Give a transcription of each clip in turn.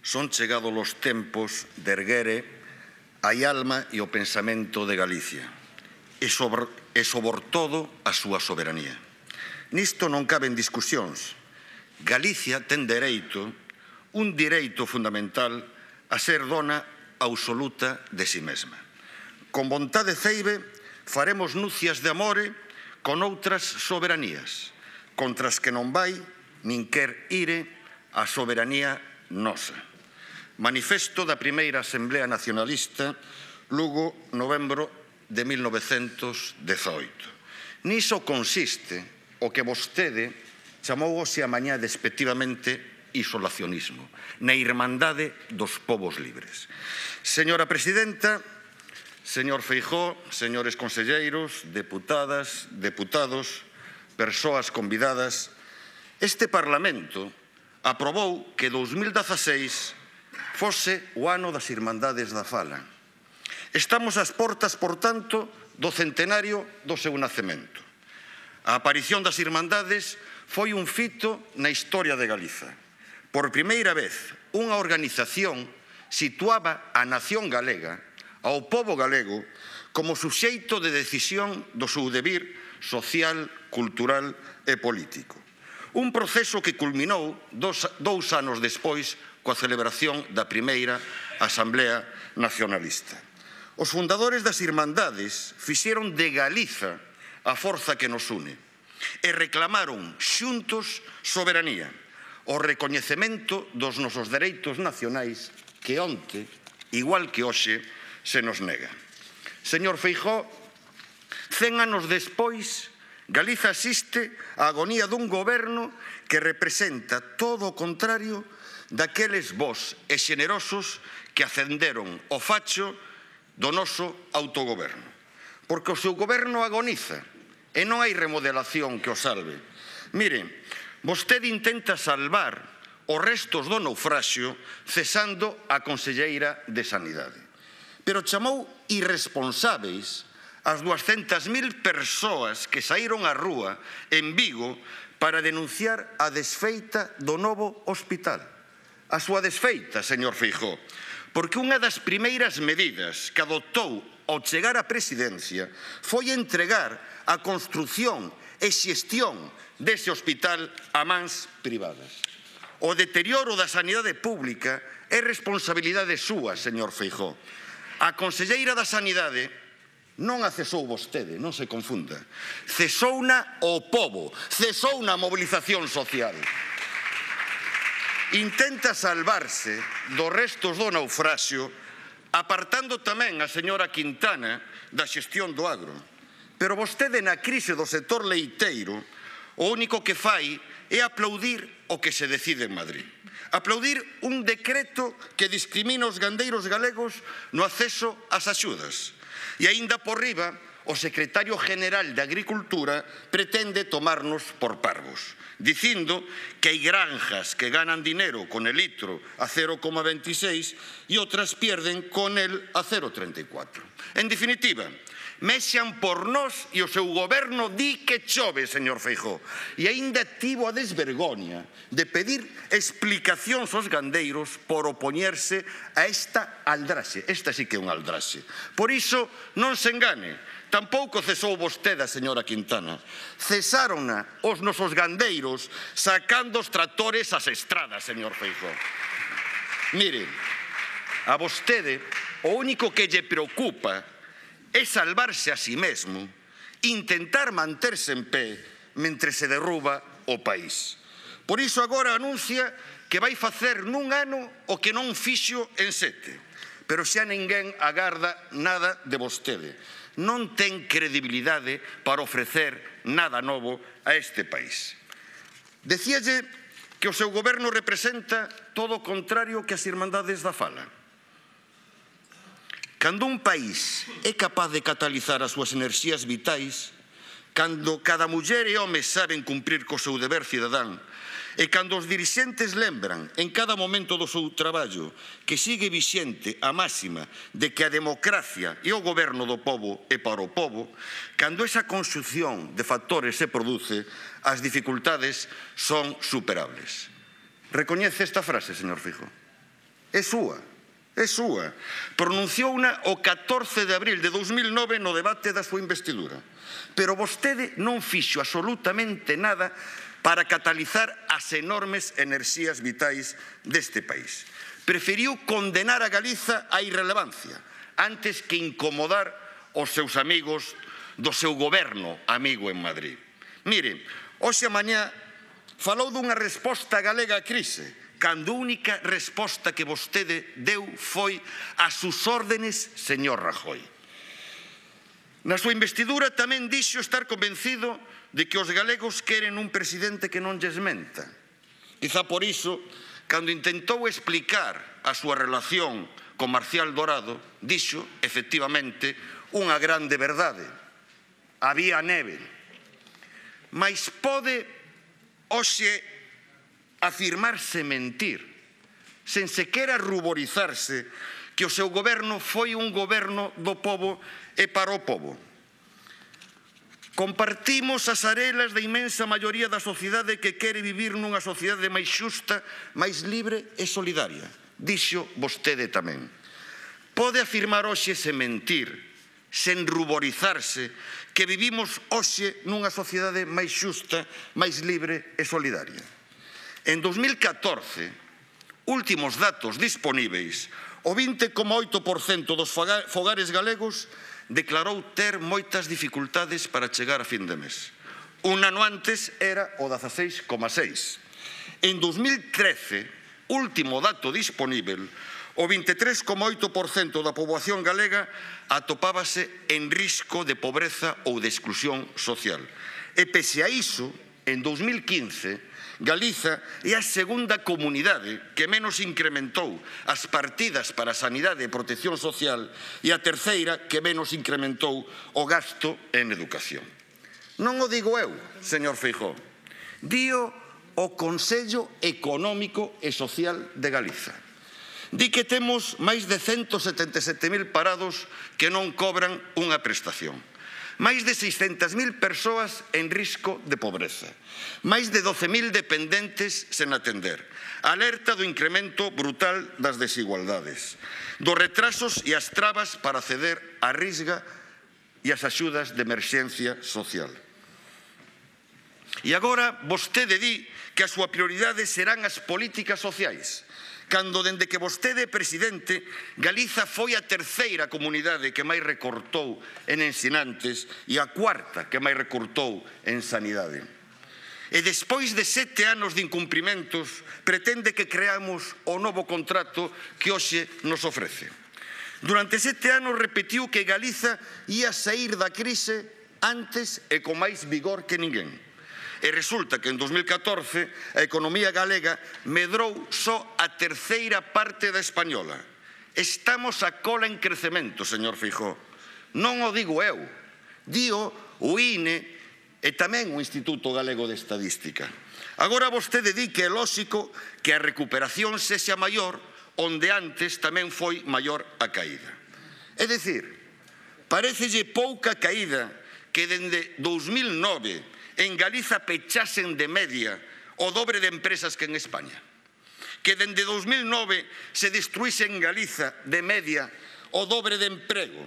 son chegados os tempos de erguere a alma e o pensamento de Galicia e sobre todo a súa soberanía. Nisto non caben discusións. Galicia ten dereito, un direito fundamental, a ser dona absoluta de si mesma. Con vontade ceibe faremos núcias de amore con outras soberanías, contra as que non vai nin quer ire a soberanía nosa. Manifesto da primeira Asamblea Nacionalista, Lugo, novembro de 1918. Niso consiste o que vostede chamou hoxe a mañá despectivamente isolacionismo, na irmandade dos povos libres. Señora Presidenta, señor Feijóo, señores conselleiros, deputadas, deputados, persoas convidadas, este Parlamento aprobou que 2016 fose o ano das Irmandades da Fala. Estamos ás portas, por tanto, do centenario do seu nacemento. A aparición das Irmandades foi un fito na historia de Galiza. Por primeira vez, unha organización situaba a nación galega, ao pobo galego, como suxeito de decisión do seu devir social, cultural e político. Un proceso que culminou dous anos despois coa celebración da primeira Asamblea Nacionalista. Os fundadores das Irmandades fixeron de Galiza a forza que nos une e reclamaron xuntos soberanía, o recoñecemento dos nosos dereitos nacionais que onte, igual que hoxe, se nos nega. Señor Feijóo, 100 anos despois, Galiza asiste á agonía dun goberno que representa todo o contrario daqueles bos e xenerosos que ascenderon o facho do noso autogoberno. Porque o seu goberno agoniza e non hai remodelación que o salve. Mire, vostede intenta salvar os restos do naufraxio cesando a conselleira de Sanidade. Pero chamou irresponsáveis as 200.000 persoas que saíron á rúa en Vigo para denunciar a desfeita do novo hospital. A súa desfeita, señor Feijóo, porque unha das primeiras medidas que adoptou ao chegar á presidencia foi entregar a construción e xestión dese hospital a mans privadas. O deterioro da sanidade pública é responsabilidade súa, señor Feijóo. A conselleira da Sanidade non a cesou vostede, non se confunda. Cesouna o pobo, cesouna a mobilización social. Intenta salvarse dos restos do naufraxio apartando tamén a señora Quintana da xestión do agro. Pero vostede na crise do sector leiteiro o único que fai é aplaudir o que se decide en Madrid. Aplaudir un decreto que discrimina os gandeiros galegos no acceso ás axudas. E aínda por riba, o secretario general de Agricultura pretende tomarnos por parvos, dicindo que hai granjas que ganan dinero con el litro a 0,26 e outras pierden con el a 0,34. En definitiva, mexan por nós e o seu goberno di que chove, señor Feijóo. E aínda tivo a desvergoña de pedir explicacións aos gandeiros por opoñerse a esta aldraxe. Esta sí que é unha aldraxe. Por iso, non se engane. Tampouco cesou vostede a señora Quintana. Cesárona os nosos gandeiros sacando os tractores ás estradas, señor Feijóo. Mire, a vostede o único que lle preocupa é salvarse a si mesmo, intentar manterse en pé mentre se derruba o país. Por iso agora anuncia que vai facer nun ano o que non fixo en 7. Pero xa ninguén agarda nada de vostede. Non ten credibilidade para ofrecer nada novo a este país. Decíalle que o seu goberno representa todo o contrario que as Irmandades da Fala. Cando un país é capaz de catalizar as súas enerxías vitais, cando cada muller e home saben cumprir co seu deber cidadán, e cando os dirixentes lembran en cada momento do seu traballo que sigue vixente a máxima de que a democracia e o goberno do pobo é para o pobo, cando esa conxunción de factores se produce, as dificultades son superables. Recoñece esta frase, señor Feijóo? é súa. Pronunciouna o 14 de abril de 2009 no debate da súa investidura. Pero vostede non fixo absolutamente nada para catalizar as enormes enerxías vitais deste país. Preferiu condenar a Galiza á irrelevancia antes que incomodar os seus amigos do seu goberno amigo en Madrid. Mire, hoxe a mañá falou dunha resposta galega á crise, cando a única resposta que vostede deu foi a sus órdenes, señor Rajoy. Na súa investidura tamén dixo estar convencido de que os galegos queren un presidente que non lles menta. Quizá por iso, cando intentou explicar a súa relación con Marcial Dorado, dixo, efectivamente, unha grande verdade. Había neve. Mais pode hoxe afirmarse mentir, sen sequera ruborizarse que o seu goberno foi un goberno do pobo e para o pobo. Compartimos as arelas da inmensa maioría da sociedade que quere vivir nunha sociedade máis xusta, máis libre e solidaria. Dixo vostede tamén. Pode afirmar hoxe sen mentir, sen ruborizarse, que vivimos hoxe nunha sociedade máis xusta, máis libre e solidaria. En 2014, últimos datos disponíveis, o 20,8% dos fogares galegos declarou ter moitas dificultades para chegar a fin de mes. Un ano antes era o 16,6%. En 2013, último dato disponível, o 23,8% da poboación galega atopábase en risco de pobreza ou de exclusión social. E pese a iso, en 2015, Galiza é a segunda comunidade que menos incrementou as partidas para a sanidade e protección social e a terceira que menos incrementou o gasto en educación. Non o digo eu, señor Feijóo, dío o Consello Económico e Social de Galiza. Di que temos máis de 177.000 parados que non cobran unha prestación. Máis de 600.000 persoas en risco de pobreza, máis de 12.000 dependentes sen atender, alerta do incremento brutal das desigualdades, dos retrasos e as trabas para acceder á risga e as axudas de emerxencia social. E agora vostede di que a súa prioridade serán as políticas sociais, cando dende que vostede é presidente, Galiza foi a terceira comunidade que máis recortou en ensinantes e a cuarta que máis recortou en sanidade. E despois de 7 anos de incumprimentos, pretende que creamos o novo contrato que hoxe nos ofrece. Durante 7 anos repetiu que Galiza ia sair da crise antes e con máis vigor que ninguén. E resulta que en 2014 a economía galega medrou só a terceira parte da española. Estamos a cola en crecemento, señor Feijóo. Non o digo eu, dío o INE e tamén o Instituto Galego de Estadística. Agora vostede di que é lóxico que a recuperación sexa maior onde antes tamén foi maior a caída. É dicir, parécelle pouca caída que dende 2009 en Galiza pechasen de media o dobre de empresas que en España. Que dende 2009 se destruíse en Galiza de media o dobre de emprego.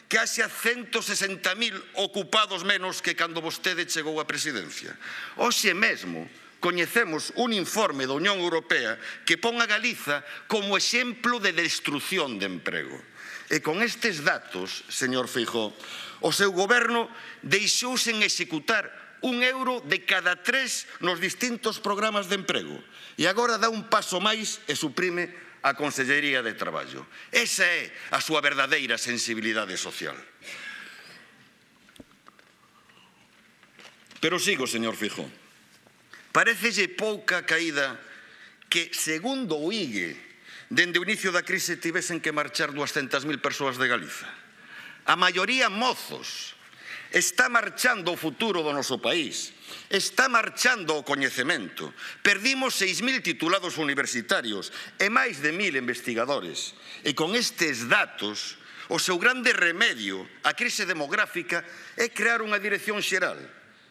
Que haxa 160.000 ocupados menos que cando vostede chegou á presidencia. Hoxe mesmo coñecemos un informe da Unión Europea que pon a Galiza como exemplo de destrucción de emprego. E con estes datos, señor Feijóo, o seu goberno deixou sen executar €1 de cada 3 nos distintos programas de emprego. E agora dá un paso máis e suprime a Consellería de Traballo. Esa é a súa verdadeira sensibilidade social. Pero sigo, señor Feijóo. Parécelle pouca caída que, segundo o IGE, dende o inicio da crise tivesen que marchar 200.000 persoas de Galiza. A maioría mozos. Está marchando o futuro do noso país, está marchando o coñecemento. Perdimos 6.000 titulados universitarios e máis de 1.000 investigadores. E con estes datos, o seu grande remedio á crise demográfica é crear unha dirección xeral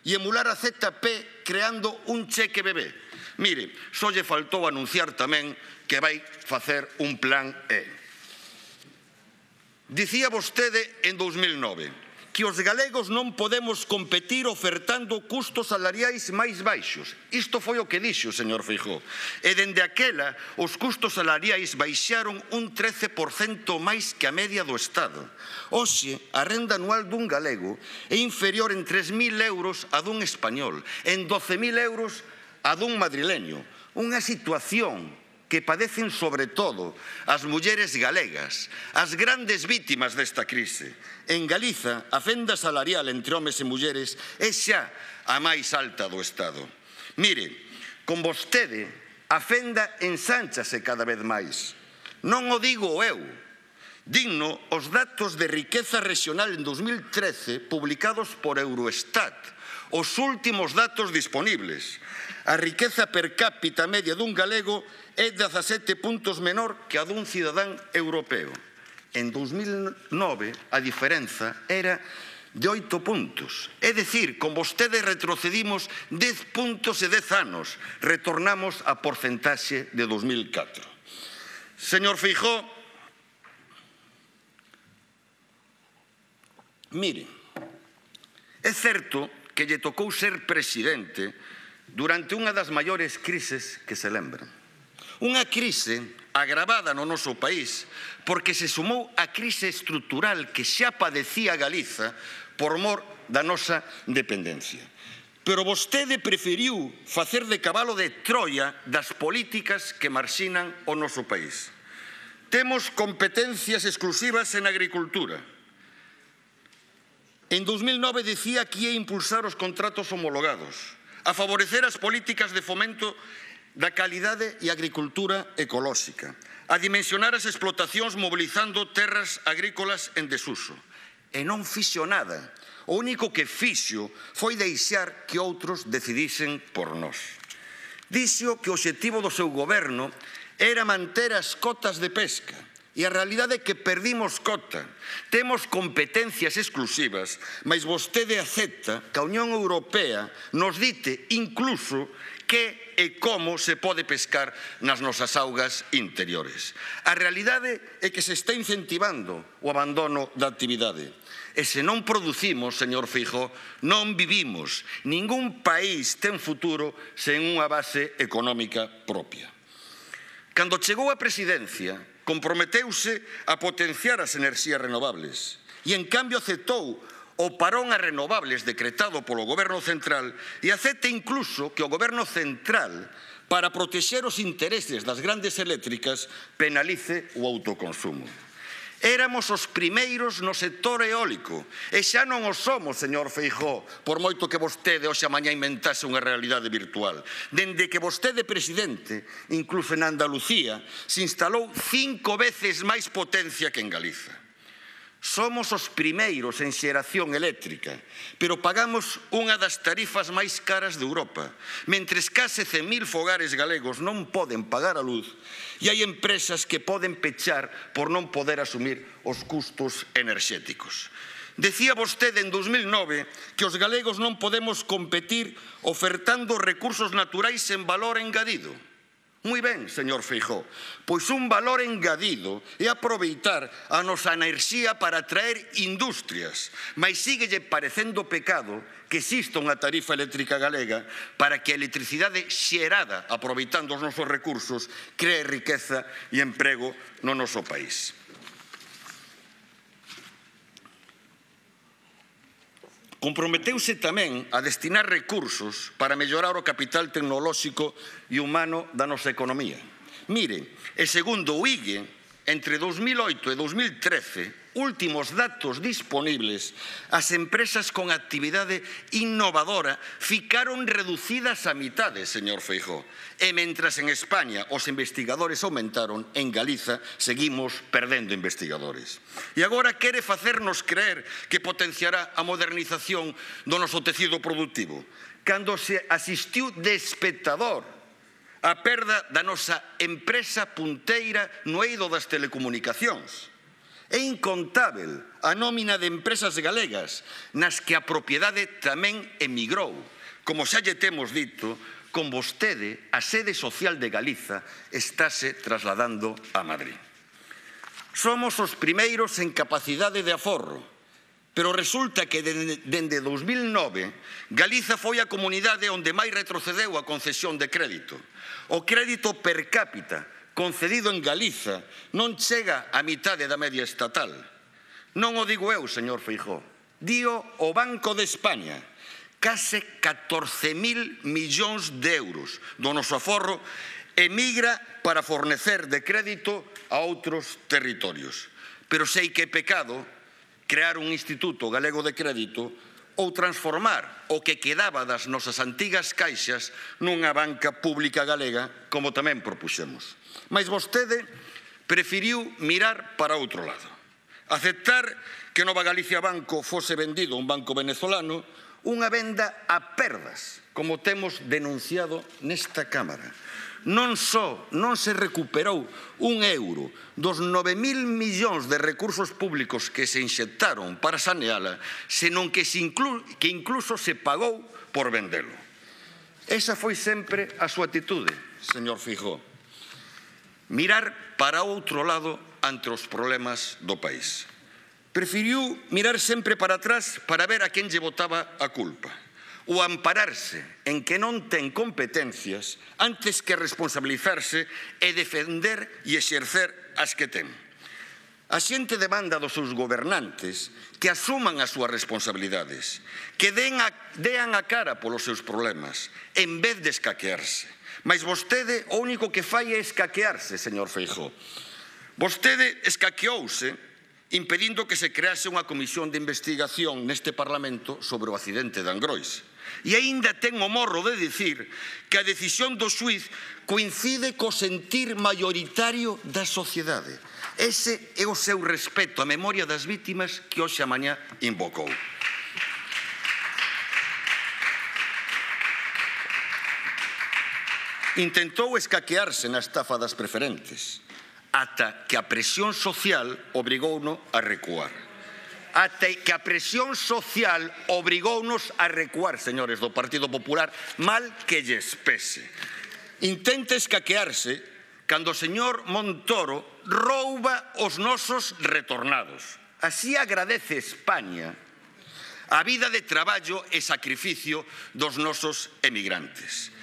e emular a ZP creando un cheque bebé. Mire, só lle faltou anunciar tamén que vai facer un plan E. Dicía vostede en 2009 que os galegos non podemos competir ofertando custos salariais máis baixos. Isto foi o que dixo o señor Feijóo. E dende aquela, os custos salariais baixaron un 13% máis que a media do Estado. Hoxe, a renda anual dun galego é inferior en 3.000 euros a dun español, en 12.000 euros a dun madrileño. Unha situación que padecen sobre todo as mulleres galegas, as grandes vítimas desta crise. En Galiza, a fenda salarial entre homes e mulleres é xa a máis alta do Estado. Mire, con vostede, a fenda ensánchase cada vez máis. Non o digo eu, digno os datos de riqueza regional en 2013 publicados por Eurostat, os últimos datos disponibles. A riqueza per cápita media dun galego é 17 puntos menor que a dun cidadán europeo. En 2009 a diferenza era de 8 puntos. É dicir, con vostede retrocedimos 10 puntos e 10 anos. Retornamos a porcentaxe de 2004. Señor Feijóo, mire, é certo que lle tocou ser presidente durante unha das maiores crises que se lembran. Unha crise agravada no noso país porque se sumou a crise estrutural que xa padecía Galiza por mor da nosa dependencia. Pero vostede preferiu facer de cabalo de Troia das políticas que marxinan o noso país. Temos competencias exclusivas en agricultura. En 2009 dicía que ia impulsar os contratos homologados, a favorecer as políticas de fomento da calidade e agricultura ecolóxica, a dimensionar as explotacións mobilizando terras agrícolas en desuso. E non fixo nada. O único que fixo foi deixar que outros decidisen por nós. Dixo que o obxectivo do seu goberno era manter as cotas de pesca. E a realidade é que perdimos cota. Temos competencias exclusivas, mas vostede acepta que a Unión Europea nos dite incluso que e como se pode pescar nas nosas augas interiores. A realidade é que se está incentivando o abandono da actividade. E se non producimos, señor Feijóo, non vivimos. Ningún país ten futuro sen unha base económica propia. Cando chegou á presidencia, comprometeuse a potenciar as enerxías renovables e, en cambio, aceptou o parón a renovables decretado polo Goberno Central e acepta incluso que o Goberno Central, para protexer os intereses das grandes eléctricas, penalice o autoconsumo. Éramos os primeiros no sector eólico e xa non o somos, señor Feijóo, por moito que vostede hoxe a mañá inventase unha realidade virtual. Dende que vostede presidente, incluso en Andalucía, se instalou 5 veces máis potencia que en Galiza. Somos os primeiros en xeración eléctrica, pero pagamos unha das tarifas máis caras de Europa, mentres case 100.000 fogares galegos non poden pagar a luz e hai empresas que poden pechar por non poder asumir os custos enerxéticos. Decía vostede en 2009 que os galegos non podemos competir ofertando recursos naturais en valor engadido. Moi ben, señor Feijóo, pois un valor engadido é aproveitar a nosa enerxía para atraer industrias, mas síguelle parecendo pecado que exista unha tarifa eléctrica galega para que a electricidade xerada, aproveitando os nosos recursos, cree riqueza e emprego no noso país. Comprometeuse tamén a destinar recursos para mellorar o capital tecnolóxico e humano da nosa economía. Mire, e segundo o IGE, entre 2008 e 2013, últimos datos disponibles, as empresas con actividade innovadora ficaron reducidas a mitade, señor Feijóo. E mentras en España os investigadores aumentaron, en Galiza seguimos perdendo investigadores. E agora quere facernos creer que potenciará a modernización do noso tecido productivo, cando se asistiu de espectador a perda da nosa empresa punteira no eido das telecomunicacións. É incontável a nómina de empresas galegas nas que a propiedade tamén emigrou, como xa lle temos dito, con vostede, a sede social de Galiza estáse trasladando a Madrid. Somos os primeiros en capacidade de aforro, pero resulta que dende 2009 Galiza foi a comunidade onde máis retrocedeu a concesión de crédito. O crédito per cápita concedido en Galiza non chega á mitade da media estatal. Non o digo eu, señor Feijóo, dío o Banco de España. Case 14.000 millóns de euros do noso aforro emigra para fornecer de crédito a outros territorios. Pero sei que é pecado crear un Instituto Galego de Crédito ou transformar o que quedaba das nosas antigas caixas nunha banca pública galega, como tamén propuxemos. Mas vostede preferiu mirar para outro lado. Aceptar que Nova Galicia Banco fose vendido a un banco venezolano, unha venda a perdas, como temos denunciado nesta Cámara. Non só non se recuperou un euro dos 9.000 millóns de recursos públicos que se inxectaron para saneala, senón que incluso se pagou por vendelo. Esa foi sempre a súa atitude, señor Feijóo. Mirar para outro lado ante os problemas do país. Preferiu mirar sempre para atrás para ver a quen lle botaba a culpa, ou ampararse en que non ten competencias antes que responsabilizarse e defender e exercer as que ten. A xente demanda dos seus gobernantes que asuman as súas responsabilidades, que dean a cara polos seus problemas, en vez de escaquearse. Mas vostede o único que fai é escaquearse, señor Feijóo. Vostede escaqueouse impedindo que se crease unha comisión de investigación neste Parlamento sobre o accidente de Angrois. E aínda ten o morro de dicir que a decisión do xuíz coincide co sentir maioritario da sociedade. Ese é o seu respeto á memoria das vítimas que hoxe a mañá invocou. Intentou escaquearse na estafa das preferentes, ata que a presión social obrigouno a recuar. Ata que a presión social obrigounos a recuar, señores do Partido Popular, mal que lles pese. Intenta escaquearse cando o señor Montoro rouba os nosos retornados. Así agradece España a vida de traballo e sacrificio dos nosos emigrantes.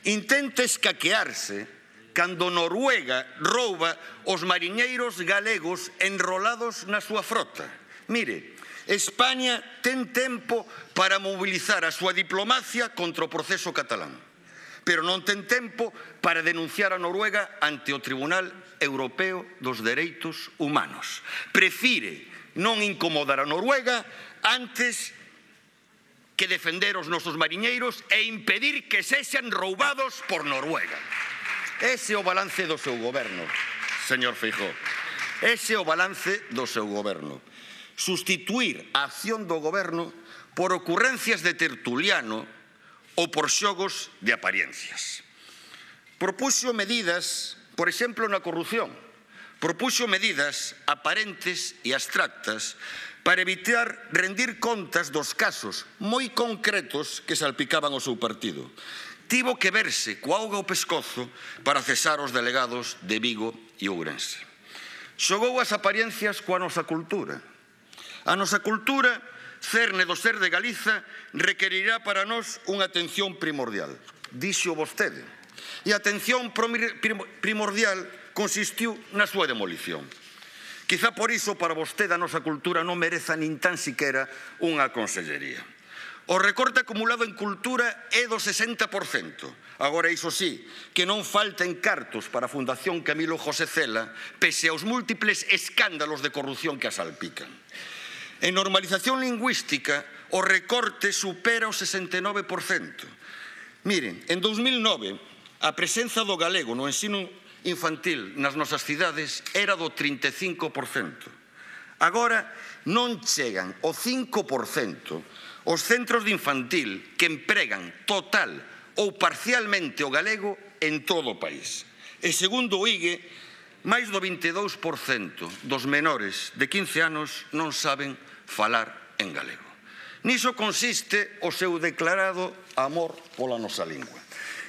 Intenta escaquearse cando Noruega rouba os mariñeiros galegos enrolados na súa frota. Mire, España ten tempo para mobilizar a súa diplomacia contra o proceso catalán, pero non ten tempo para denunciar a Noruega ante o Tribunal Europeo dos Dereitos Humanos. Prefire non incomodar a Noruega antes que defender os nosos mariñeiros e impedir que sexan roubados por Noruega. Ese é o balance do seu goberno, señor Feijóo. Ese é o balance do seu goberno. Sustituir a acción do goberno por ocurrencias de tertuliano ou por xogos de apariencias. Propuxo medidas, por exemplo, na corrupción. Propuxo medidas aparentes e abstractas para evitar rendir contas dos casos moi concretos que salpicaban o seu partido. Tivo que verse coa auga ao pescozo para cesar os delegados de Vigo e Ourense. Xogou as apariencias coa nosa cultura. A nosa cultura, cerne do ser de Galiza, requerirá para nós unha atención primordial. Dixo vostede. E a atención primordial consistiu na súa demolición. Quizá por iso para vostede a nosa cultura non mereza nin tan siquera unha consellería. O recorte acumulado en cultura é do 60%. Agora, iso sí, que non falten cartos para a Fundación Camilo José Cela, pese aos múltiples escándalos de corrupción que a salpican. En normalización lingüística, o recorte supera o 69%. Miren, en 2009, a presenza do galego no ensino infantil nas nosas cidades era do 35%. Agora, non chegan o 5% os centros de infantil que empregan total ou parcialmente o galego en todo o país. E segundo o IGE, máis do 22% dos menores de 15 anos non saben falar en galego. Niso consiste o seu declarado amor pola nosa lingua.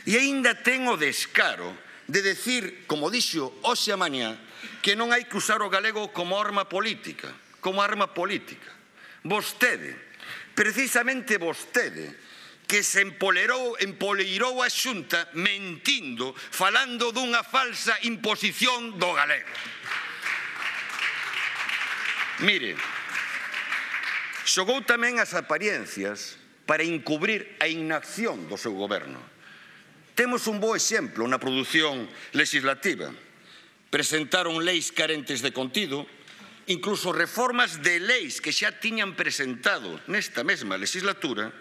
E aínda ten o descaro de decir, como dixo hoxe a mañá, que non hai que usar o galego como arma política. Vostede, precisamente vostede, que se empoleirou a Xunta mentindo, falando dunha falsa imposición do galego. Mire, xogou tamén as apariencias para encubrir a inacción do seu goberno. Temos un bo exemplo na produción legislativa. Presentaron leis carentes de contido, incluso reformas de leis que xa tiñan presentado nesta mesma legislatura,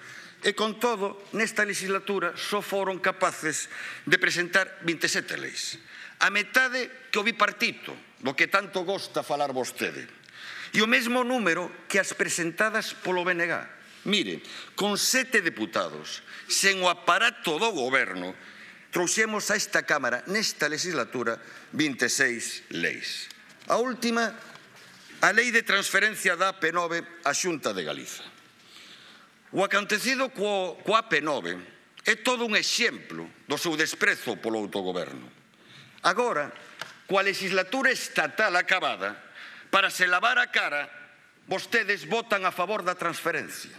e con todo, nesta legislatura só foron capaces de presentar 27 leis. A metade que o bipartito, do que tanto gosta falar vostede. E o mesmo número que as presentadas polo BNG. Mire, con 7 deputados, sen o aparato do goberno, trouxemos a esta Cámara, nesta legislatura, 26 leis. A última, a Lei de Transferencia da AP9 á Xunta de Galiza. O acontecido coa AP9 é todo un exemplo do seu desprezo polo autogoberno. Agora, coa legislatura estatal acabada, para se lavar a cara, vostedes votan a favor da transferencia.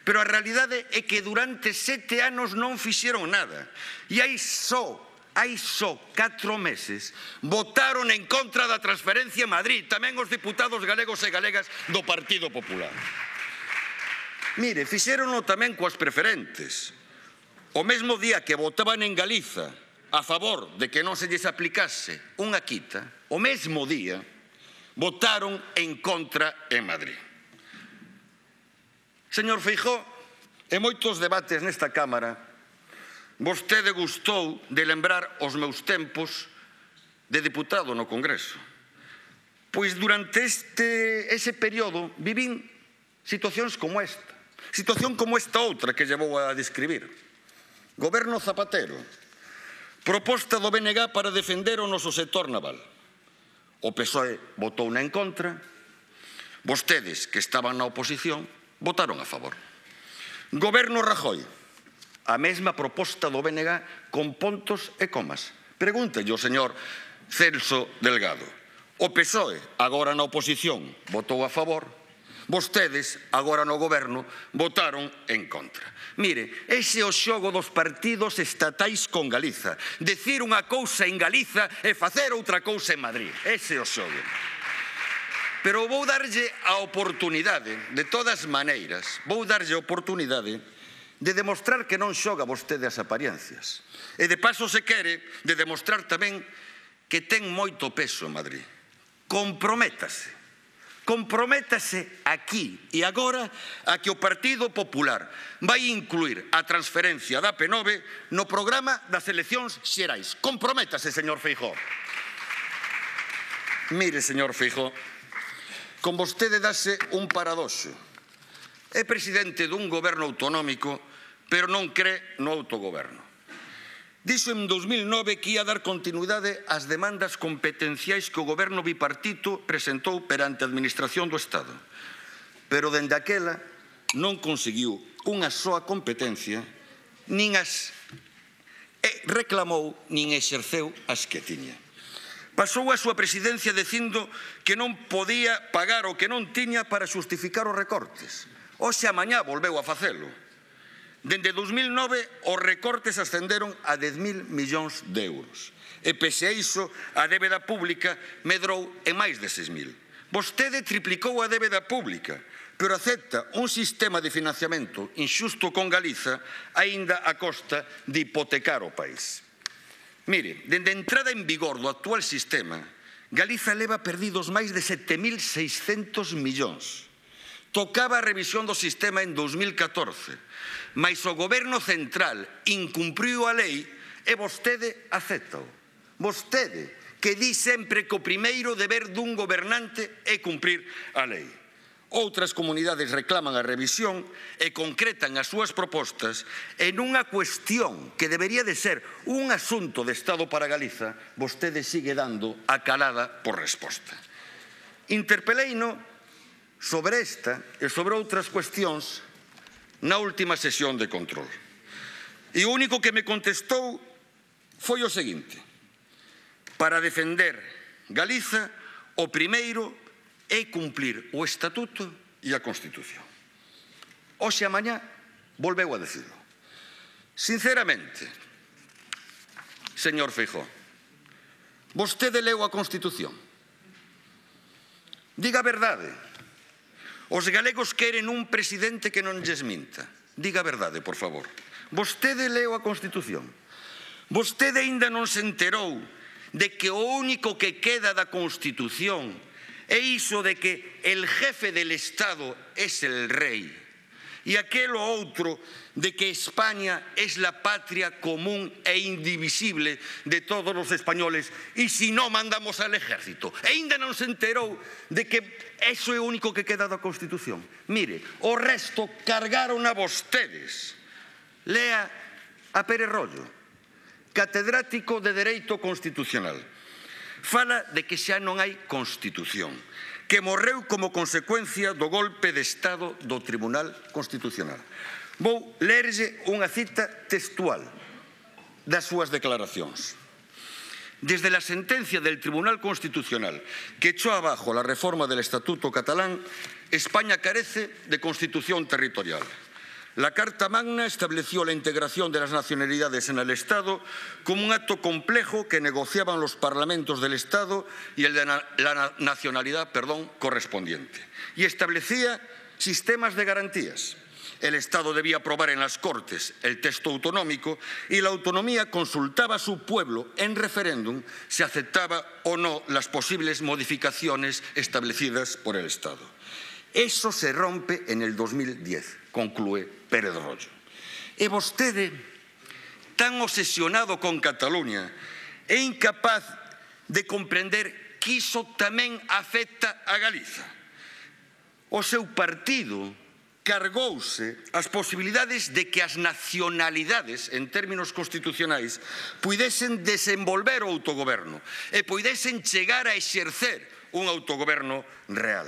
Pero a realidade é que durante 7 anos non fixeron nada. E hai só 4 meses votaron en contra da transferencia en Madrid, tamén os deputados galegos e galegas do Partido Popular. Mire, fixéronlo tamén coas preferentes. O mesmo día que votaban en Galiza a favor de que non se lles aplicase unha quita, o mesmo día votaron en contra en Madrid. Señor Feijóo, en moitos debates nesta Cámara, vostede gustou de lembrar os meus tempos de deputado no Congreso. Pois durante ese período vivín situacións como esta. Situación como esta outra que lle vou a describir. Goberno Zapatero. Proposta do BNG para defender o noso sector naval. O PSOE votou en contra. Vostedes, que estaban na oposición, votaron a favor. Goberno Rajoy, a mesma proposta do BNG con puntos e comas. Pregúntelle ao señor Celso Delgado. O PSOE, agora na oposición, votou a favor. Vostedes, agora no goberno, votaron en contra. Mire, ese é o xogo dos partidos estatais con Galiza. Decir unha cousa en Galiza e facer outra cousa en Madrid. Ese é o xogo. Pero vou darlle a oportunidade, de todas maneiras, vou darlle a oportunidade de demostrar que non xoga vostede as apariencias. E de paso, se quere, de demostrar tamén que ten moito peso en Madrid. Comprométase. Comprométase aquí e agora a que o Partido Popular vai incluir a transferencia da AP9 no programa das eleccións xerais. Comprométase, señor Feijóo. Mire, señor Feijóo, con vostede dase un paradoxo. É presidente dun goberno autonómico, pero non cree no autogoberno. Dixo en 2009 que ia dar continuidade ás demandas competenciais que o goberno bipartito presentou perante a Administración do Estado. Pero dende aquela non conseguiu unha soa competencia, nin as reclamou, nin exerceu as que tiña. Pasou a súa presidencia dicindo que non podía pagar o que non tiña para xustificar os recortes. Hoxe a mañá volveu a facelo. Dende 2009 os recortes ascenderon a 10.000 millóns de euros. E pese a iso, a débeda pública medrou en máis de 6.000. Vostede triplicou a débeda pública, pero acepta un sistema de financiamento inxusto con Galiza aínda a costa de hipotecar o país. Mire, dende a entrada en vigor do actual sistema, Galiza leva perdidos máis de 7.600 millóns. Tocaba a revisión do sistema en 2014, mais o goberno central incumpriu a lei e vostede acepta-o. Vostede, que di sempre que o primeiro deber dun gobernante é cumprir a lei. Outras comunidades reclaman a revisión e concretan as súas propostas en unha cuestión que debería de ser un asunto de Estado para Galiza, vostede sigue dando a calada por resposta. Interpeleino sobre esta e sobre outras cuestións na última sesión de control. E o único que me contestou foi o seguinte: para defender Galiza, o primeiro é cumplir o Estatuto e a Constitución. Hoxe a mañá volveu a decirlo. Sinceramente, señor Feijóo, vostede leu a Constitución? Diga a verdade. Os galegos queren un presidente que non lles minta. Diga a verdade, por favor. Vostede leu a Constitución? Vostede aínda non se enterou de que o único que queda da Constitución é iso de que el jefe del Estado es el rey e aquelo outro de que España es la patria común e indivisible de todos os españoles e si non mandamos al ejército. E aínda non se enterou de que eso é o único que queda da Constitución. Mire, o resto cargaron a vostedes. Lea a Pérez Royo, catedrático de Dereito Constitucional. Fala de que xa non hai Constitución, que morreu como consecuencia do golpe de Estado do Tribunal Constitucional. Vou lerlle unha cita textual das súas declaracións. Desde la sentencia del Tribunal Constitucional que echó abajo la reforma del Estatuto catalán, España carece de constitución territorial. La Carta Magna estableció la integración de las nacionalidades en el Estado como un acto complejo que negociaban los parlamentos del Estado y el de la nacionalidad correspondiente. Y establecía sistemas de garantías. El Estado debía aprobar en las Cortes el texto autonómico y la autonomía consultaba a su pueblo en referéndum si aceptaba o no las posibles modificaciones establecidas por el Estado. Eso se rompe en el 2010, conclúe Pérez Royo. E vostede, tan obsesionado con Cataluña, é incapaz de comprender que iso tamén afecta a Galiza. O seu partido cargouse as posibilidades de que as nacionalidades, en términos constitucionais, puidesen desenvolver o autogoberno e puidesen chegar a exercer un autogoberno real.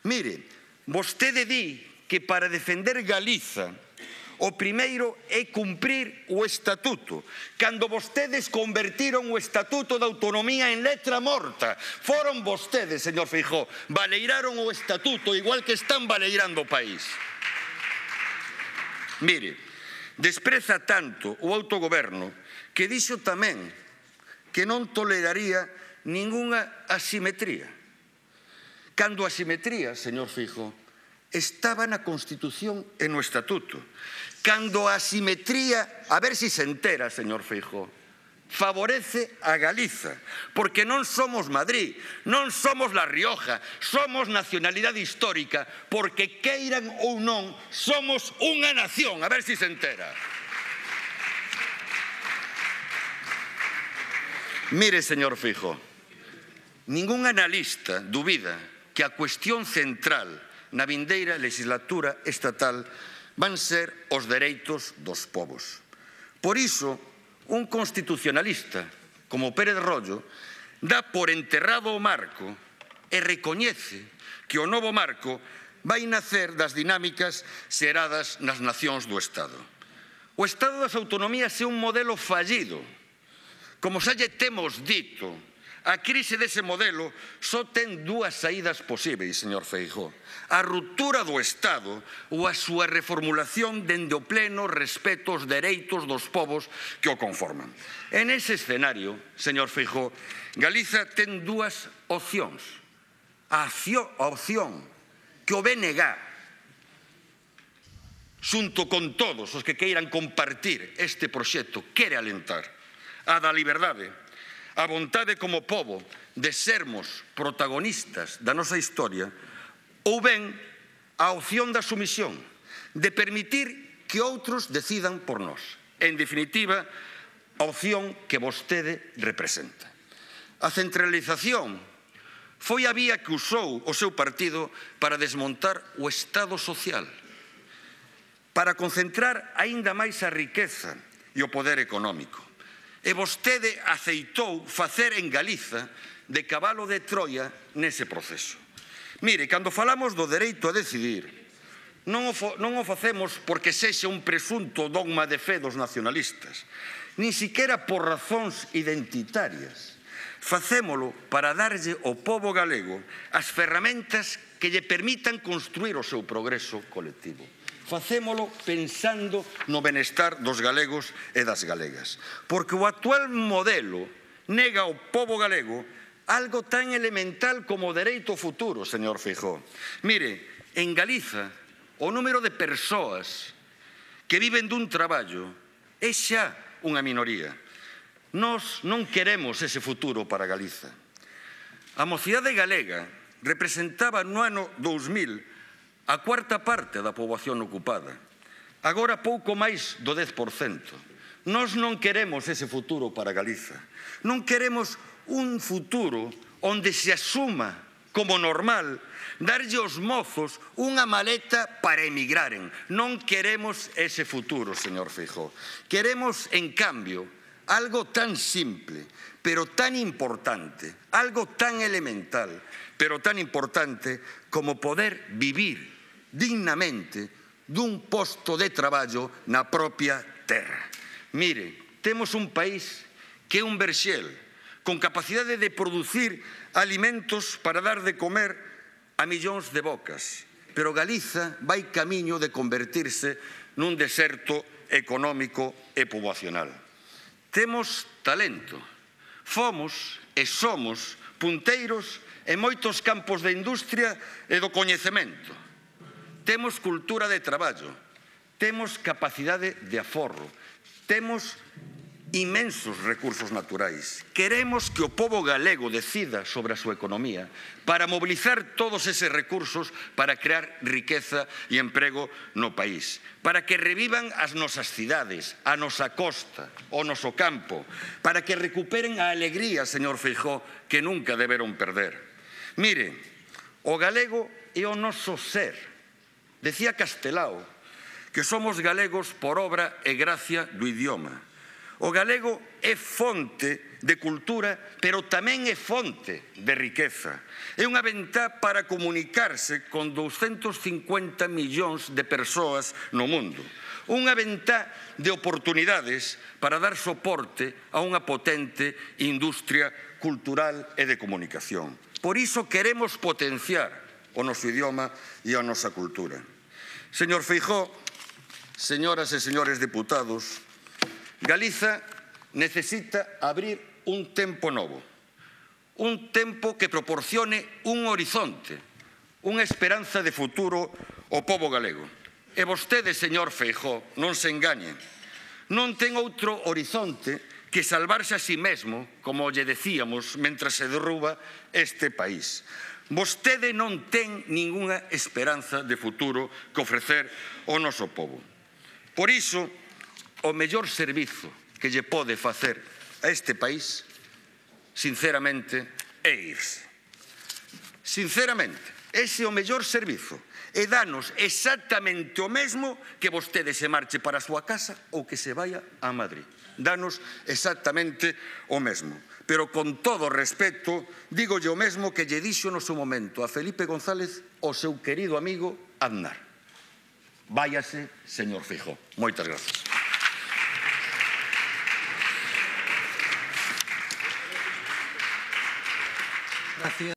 Mire, vostede di que para defender Galiza o primeiro é cumprir o Estatuto. Cando vostedes convertiron o Estatuto de Autonomía en letra morta, foron vostedes, señor Feijóo, baleiraron o Estatuto igual que están baleirando o país. Mire, despreza tanto o autogoberno que dixo tamén que non toleraría ningunha asimetría. Cando a asimetría, señor Feijóo, estaba na Constitución e no Estatuto. Cando a asimetría, a ver si se entera, señor Feijóo, favorece a Galiza, porque non somos Madrid, non somos La Rioja, somos nacionalidade histórica, porque queiran ou non, somos unha nación, a ver si se entera. Mire, señor Feijóo, ningún analista dubida que a cuestión central na vindeira legislatura estatal van ser os dereitos dos povos. Por iso, un constitucionalista como Pérez Royo dá por enterrado o marco e recoñece que o novo marco vai nacer das dinámicas xeradas nas nacións do Estado. O Estado das autonomías é un modelo fallido. Como xa lle temos dito, a crise dese modelo só ten dúas saídas posíveis, señor Feijóo. A ruptura do Estado ou a súa reformulación dende o pleno respeto aos dereitos dos povos que o conforman. En ese escenario, señor Feijóo, Galiza ten dúas opcións. A opción que o BNG, xunto con todos os que queiran compartir este proxecto, quere alentar, a da liberdade, a vontade como pobo de sermos protagonistas da nosa historia, ou ben a opción da sumisión, de permitir que outros decidan por nós. En definitiva, a opción que vostede representa. A centralización foi a vía que usou o seu partido para desmontar o Estado social, para concentrar aínda máis a riqueza e o poder económico. E vostede aceitou facer en Galiza de cabalo de Troia nese proceso. Mire, cando falamos do dereito a decidir, Non o facemos porque sexa un presunto dogma de fe dos nacionalistas, nin siquera por razóns identitarias. Facémolo para darlle ao pobo galego as ferramentas que lle permitan construir o seu progreso colectivo. Facémolo pensando no benestar dos galegos e das galegas. Porque o actual modelo nega ao pobo galego algo tan elemental como o dereito ao futuro, señor Feijóo. Mire, en Galiza, o número de persoas que viven dun traballo é xa unha minoría. Nós non queremos ese futuro para Galiza. A mocidade galega representaba no ano 2000 a cuarta parte da poboación ocupada. Agora pouco máis do 10%. Nós non queremos ese futuro para Galiza. Non queremos un futuro onde se asuma como normal darlle aos mozos unha maleta para emigraren. Non queremos ese futuro, señor Feijóo. Queremos, en cambio, algo tan simple, pero tan importante, algo tan elemental, pero tan importante como poder vivir dignamente dun posto de traballo na propia terra. Mire, temos un país que é un verxel, con capacidade de producir alimentos para dar de comer a millóns de bocas. Pero Galiza vai camiño de convertirse nun deserto económico e poboacional. Temos talento. Fomos e somos punteiros en moitos campos da industria e do coñecemento. Temos cultura de traballo. Temos capacidade de aforro. Temos inmensos recursos naturais. Queremos que o pobo galego decida sobre a súa economía para mobilizar todos eses recursos para crear riqueza e emprego no país, para que revivan as nosas cidades, a nosa costa, o noso campo, para que recuperen a alegría, señor Feijóo, que nunca deberon perder. Mire, o galego é o noso ser. Decía Castelao que somos galegos por obra e gracia do idioma. O galego é fonte de cultura, pero tamén é fonte de riqueza. É unha ventá para comunicarse con 250 millóns de persoas no mundo. Unha ventá de oportunidades para dar soporte a unha potente industria cultural e de comunicación. Por iso queremos potenciar o noso idioma e a nosa cultura. Señor Feijóo, señoras e señores deputados, Galiza necesita abrir un tempo novo, un tempo que proporcione un horizonte, unha esperanza de futuro ao pobo galego. E vostede, señor Feijóo, non se engañe, non ten outro horizonte que salvarse a si mesmo, como lle decíamos, mentras se derruba este país. Vostede non ten ningunha esperanza de futuro que ofrecer ao noso pobo. Por iso, o mellor servizo que lle pode facer a este país, sinceramente, é irse. Sinceramente, ese é o mellor servizo. E danos exactamente o mesmo que vostede se marche para a súa casa ou que se vaya a Madrid. Danos exactamente o mesmo. Pero con todo respeto, dígolle o mesmo que lle dixo no seu momento a Felipe González o seu querido amigo Aznar. Váyase, señor Feijóo. Moitas gracias. Gracias.